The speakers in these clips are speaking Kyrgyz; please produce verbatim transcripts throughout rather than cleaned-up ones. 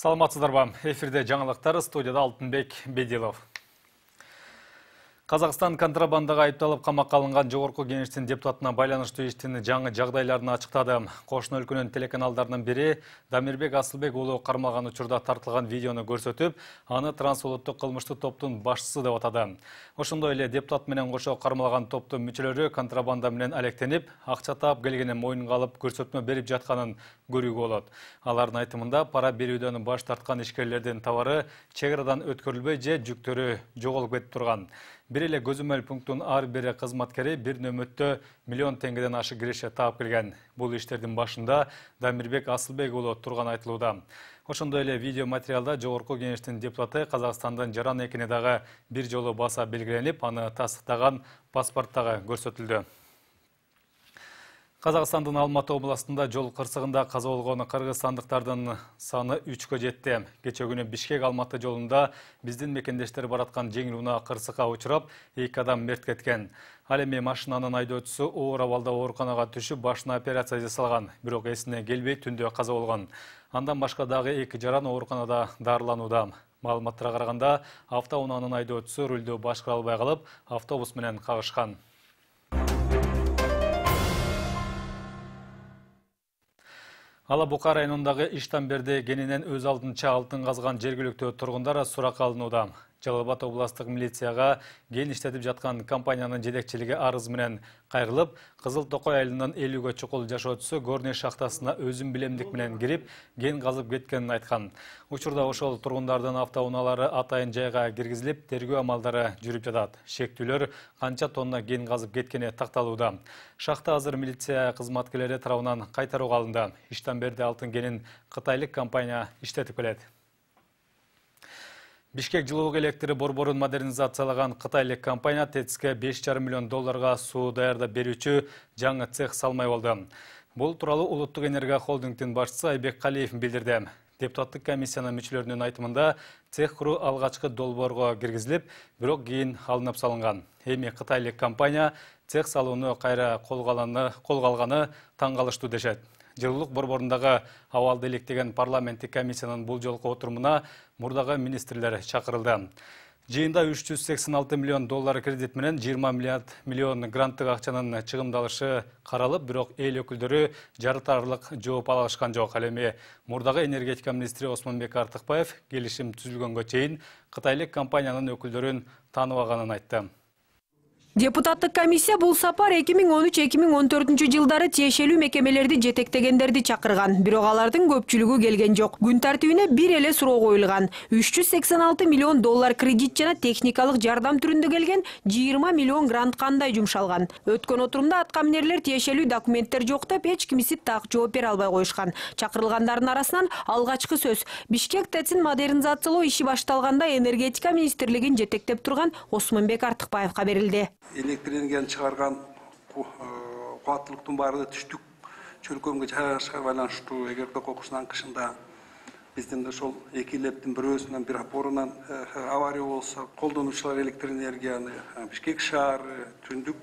Саламатсыздарбы? Эфирде жаңылыктар, студияда Алтынбек Бедилов. Казакстан контрабандага айыпталып камакка алынган жогорку кеңештин депутатына байланыштуу иштин жаңы жагдайларын ачыктады. Кошуна өлкөнүн телеканалдарынын бири Дамирбек Асылбек уулу кармалган учурда тартылган видеону көрсөтүп, аны трансулуттук кылмыштуу топтун башчысы деп атады. Ошондой эле депутат менен кошо кармалган топтун мүчөлөрү контрабанда менен алектенип, акча таап келгенин моюнга алып көрсөтмө берип жатканын көрүүгө болот. Алардын айтымында пара берүүдөн баш тарткан ишкерлердин товары чек арадан өткөрүлбөй же жүктөрү жоголуп кетип турган. Бир эле көзөмөл пункттун ар бир кызматкери бир нөмөттө миллион теңгеден ашык киреше таап келген. Бул иштердин башында Дамирбек Асылбек уулу турган айтылууда. Ошондой эле видео материалда жогорку кеңештин депутаты Казакстандын жаран экени дагы бир жолу баса белгиленип, аны тастыктаган паспорт дагы көрсөтүлдү. Казакстандын Алматы областында жол кырсыгында каза болгон кыргызстандыктардын саны үчкө жетти. Кече күнү Бишкек Алматы жолунда биздин мекендештер бараткан жеңил унаа кырсыкка учурап, эки адам мерт кеткен. Ал эми машинанын айдоочусу оор абалда ооруканага түшүп, башына операция жасалган, бирок эсине келбей түндө каза болгон. Андан башка дагы эки жаран ооруканада дарыланууда. Маалыматтарга караганда, автоунаанын айдоочусу рулду башкара албай калып, автобус менен кагышкан. Ала Бука районундагы Иштамберде кенинен өз алдынча алтын казган жергиликтүү тургундар суракка алынууда. Жалал Абад областык милицияга кен иштетип жаткан компаниянын жетекчилиги арыз менен кайрылып, Кызыл Токой айылынын элүүгө чукул жашоочусу Горный шахтасына өзүн билемдик менен кирип, кен казып кеткенин айткан. Учурда ошол тургундардын автоунаалары атайын жайга киргизилип, тергөө амалдары жүрүп жатат. Шектүүлөр канча тонна кен казып кеткени такталууда. Шахта азыр милиция кызматкерлери тарабынан кайтарууга алынды. Иштамберде алтын кенин кытайлык компания иштетип келет. Бишкек жылуулук электри борборун модернизациялаган кытайлык компания ТЭЦке беш жарым миллион долларга суу даярдап берүүчү жаңы цех салмай болду. Бул тууралуу Улуттук энергия холдингдин башчысы Айбек Калиев билдирди. Депутаттык комиссиянын мүчөлөрүнүн айтымында цех куруу алгачкы долбоорго киргизилип, бирок кийин алынып салынган. Эми кытайлык компания цех салууну кайра колго алганы таң калыштуу дешет. Жылуулук борборундагы абалды иликтеген парламенттик комиссиянын бул жолку отурумуна мурдагы министрлер чакырылды. Жыйында үч жүз сексен алты миллион доллар кредит менен жыйырма миллион гранттык акчанын чыгымдалышы каралып, бирок эл өкүлдөрү жарытарлык жооп ала алышкан жок. Ал эми мурдагы энергетика министри Осмонбек Артыкбаев келишим түзүлгөнгө чейин кытайлык компаниянын өкүлдөрүн тааныбаганын айтты. Депутаттык комиссия бул сапар эки миң он үч эки миң он төртүнчү жылдары тиешелүү мекемелерди жетектегендерди чакырган, бирок алардын көпчүлүгү келген жок. Күн тартибине бир эле суроо коюлган. үч жүз сексен алты миллион доллар кредит жана техникалык жардам түрүндө келген жыйырма миллион грант кандай жумшалган. Өткөн отурумда аткаминерлер тиешелүү документтер жок деп эч кимиси так жооп бере албай коюшкан. Чакырылгандардын арасынан алгачкы сөз Бишкек ТЭЦин модернизациялоо иши башталганда энергетика министрлигин жетектеп турган Осмонбек Артыкбаевга берилди. Электр энергияны чыгарган кубаттуулуктун баары түштүк чөлкөмгө жайгашканга байланыштуу. Эгерде кокусунун кышында биздин ошол эки лептин бирөөсүнөн бир опорунан авария болсо, колдонуучулар электр энергияны Бишкек шаары, түндүк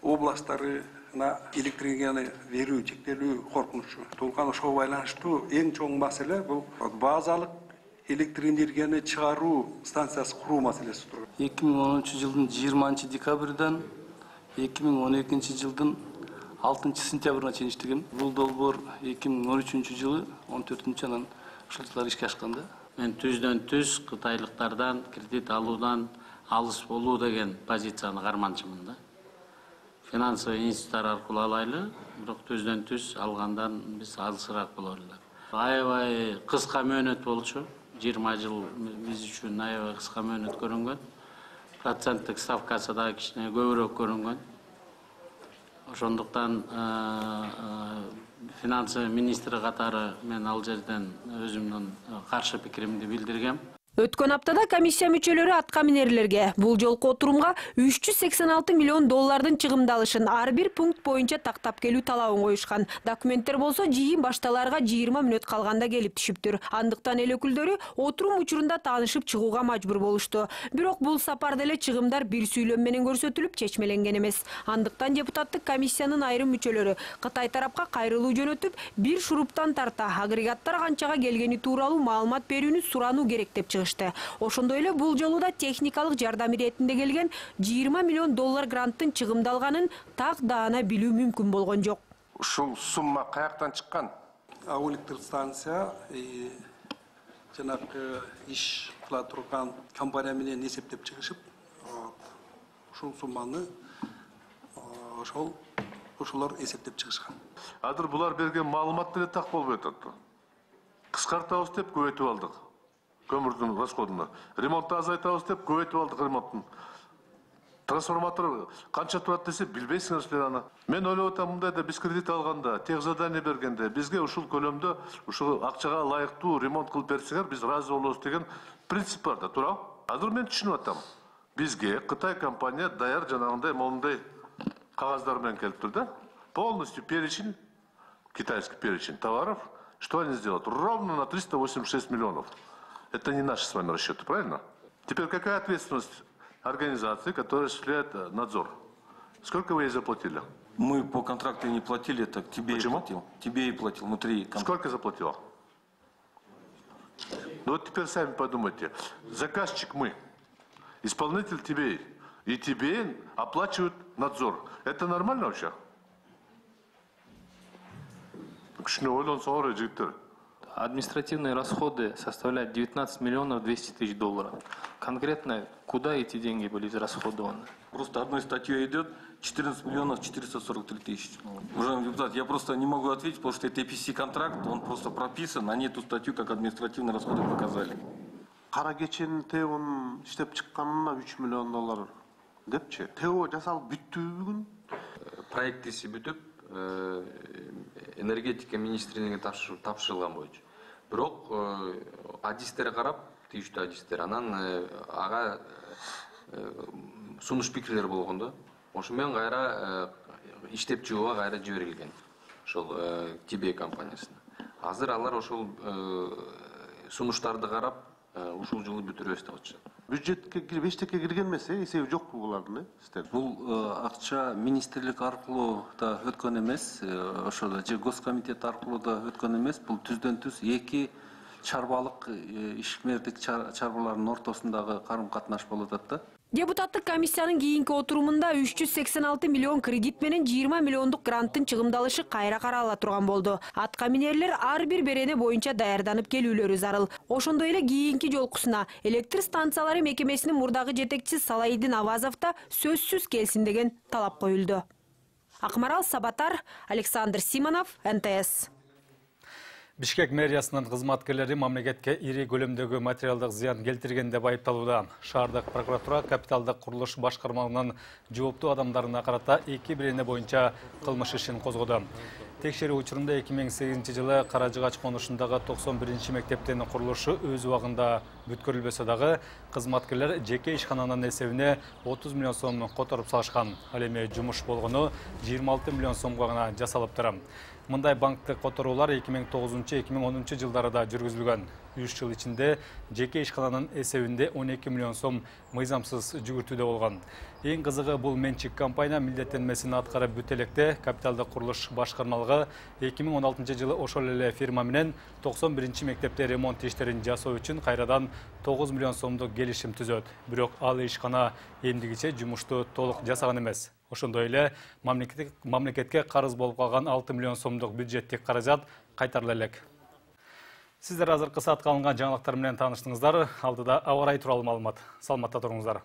областтарына электр энергияны берүү чектелүү коркунучу туулган. Ошого байланыштуу эң чоң маселе бул базалык электр энергияны чыгаруу станциясы куруу маселеси тур. эки миң онунчу жылдын жыйырманчы декабрдан эки миң он экинчи жылдын алтынчы сентябрына чейин иштеген. Бул долбоор эки миң он үчүнчү жылы он төртүнчү анан ушул жылдары ишке ашкан да. Мен түздөн түз кытайлыктардан кредит алуудан алыс болуу деген позицияны карманчымын да. Финансовый институттар аркылуу алайлы, бирок түздөн түз алгандан биз алысыраак болор эле. Аябай кыска мөөнөт болчу. жыйырма жыл биз үчүн аябай кыска мөөнөт көрүнгөн. Проценттик ставкасы да кичине көбүрөөк көрүнгөн. Ошондуктан финансы министри катары мен ал жерден өзүмдүн каршы пикиримди билдиргем. Өткөн аптада комиссия мүчөлөрү аткаминерлерге бул жолку отурумга үч жүз сексен алты миллион доллардын чыгымдалышын ар бир пункт боюнча тактап келүү талабын коюшкан. Документтер болсо жыйын башталарга жыйырма мүнөт калганда келип түшүптүр. Андыктан эл өкүлдөрү отурум учурунда таанышып чыгууга мажбур болушту. Бирок бул сапарда эле чыгымдар бир сүйлөм менен көрсөтүлүп чечмеленген эмес. Андыктан депутаттык комиссиянын айрым мүчөлөрү Кытай тарапка кайрылуу жөнөтүп, бир шуруптан тарта агрегаттар канчага келгени тууралуу маалымат берүүнү сурануу керек деп чыгышты. Ошондой эле бул жолу да техникалык жардам иретинде келген жыйырма миллион доллар гранттын чыгымдалганын так даана билүү мүмкүн болгон жок. Ушул сумма каяктан чыккан? Ал электростанция жанагы иш кыла турган компания менен эсептеп чыгышып, ушул сумманы ошол ошолор эсептеп чыгышкан. Азыр булар берген маалымат деле так болбой атат. Кыскартабыз деп көбөйтүп алдык көмүрдүн расходуна. Ремонтты азайтабыз деп көбөйтүп алдык ремонттун. Трансформатор канча турат десе билбейсиңер силер аны. Мен ойлоп атам, мындай да биз кредит алганда, тех задание бергенде бизге ушул көлөмдө ушул акчага ылайыктуу ремонт кылып берсеңер, биз ыраазы болобуз деген принцип бар да, туурабы? Азыр мен түшүнүп атам. Бизге Кытай компания даяр жанагындай момундай кагаздар менен келиптир да. Полностью перечень, китайский перечень товаров, что они сделают? Ровно на триста восемьдесят шесть миллионов. Это не наши с вами расчеты, правильно? Теперь какая ответственность организации, которая осуществляет надзор? Сколько вы ей заплатили? Мы по контракту не платили, так тебе Почему? и платил. Тебе и платил внутри контракта. Сколько заплатила? Ну вот теперь сами подумайте. Заказчик мы, исполнитель тебе, и тебе оплачивают надзор. Это нормально вообще? Административные расходы составляют девятнадцать миллионов двести тысяч долларов. Конкретно куда эти деньги были израсходованы? Просто одной статьей идет четырнадцать миллионов четыреста сорок три тысячи. Уважаемый депутат, я просто не могу ответить, потому что это и пи си контракт, он просто прописан, они эту статью как административные расходы показали. Кара кеченин теон иштеп чыкканына үч миллион доллар депчи. Тео жасалып бүттүбү бүгүн? Проектиси бүтүп, энергетика министрлигине тапшырылган боюнча. Бирок адистерге карап, тийиштүү адистер, анан ага сунуш пикирлер болгон да. Ошо менен кайра иштеп чыгууга кайра жиберилген. Ошол Тибей компаниясына. Азыр алар ошол сунуштарды карап, ушул жылы бүтүрөбүз деп атышат. Бюджетке кирип, эчтеке кирген эмес, эсеби жокпу булардын, э? Бул акча министрлик аркылуу да өткөн эмес, ошол же госкомитет аркылуу да өткөн эмес. Бул түздөн түз эки чарбалык ишмердик чарбалардын ортосундагы карым-катнаш болуп атат да. Депутаттык комиссиянын кийинки отурумунда үч жүз сексен алты миллион кредит менен жыйырма миллиондук гранттын чыгымдалышы кайра карала турган болду. Аткаминерлер ар бир берене боюнча даярданып келүүлөрү зарыл. Ошондой эле кийинки жолкусуна электр станциялары мекемесинин мурдагы жетекчиси Салайдин Авазов да сөзсүз келсин деген талап коюлду. Акмарал Сабатар, Александр Симонов, эн тэ эс. Бишкек мэриясынын кызматкерлери мамлекетке ири көлөмдөгү материалдык зыян келтирген деп айыпталууда. Шаардык прокуратура капиталдык курулуш башкармалыгынын жооптуу адамдарына карата эки берене боюнча кылмыш ишин козгоду. Текшерүү учурунда эки миң сегизинчи жылы Каражыгач конушундагы токсон биринчи мектептин курулушу өз убагында бүткөрүлбөсө дагы кызматкерлер жеке ишкананын эсебине отуз миллион сом которуп салышкан. Ал эми жумуш болгону жыйырма алты миллион сомго гана жасалыптыр. Мындай банктык которуулар эки миң тогузунчу эки миң онунчу жылдары да жүргүзүлгөн. үч жыл ичинде жеке ишкананын эсебинде он эки миллион сом мыйзамсыз жүгүртүүдө болгон. Эң кызыгы бул менчик компания милдеттенмесин аткарып бүтө электе капиталдык курулуш башкармалыгы эки миң он алтынчы жылы ошол эле фирма менен токсон биринчи мектепте ремонт иштерин жасоо үчүн кайрадан тогуз миллион сомдук келишим түзөт. Бирок ал ишкана эмдигиче жумушту толук жасаган эмес. Ошондой эле мамлекетке карыз болуп калган алты миллион сомдук бюджеттик каражат кайтарыла элек. Сиздер азыркы саатка алынган жаңылыктар менен тааныштыңыздар. Алдыда аба ырайы тууралуу маалымат. Саламатта туруңуздар.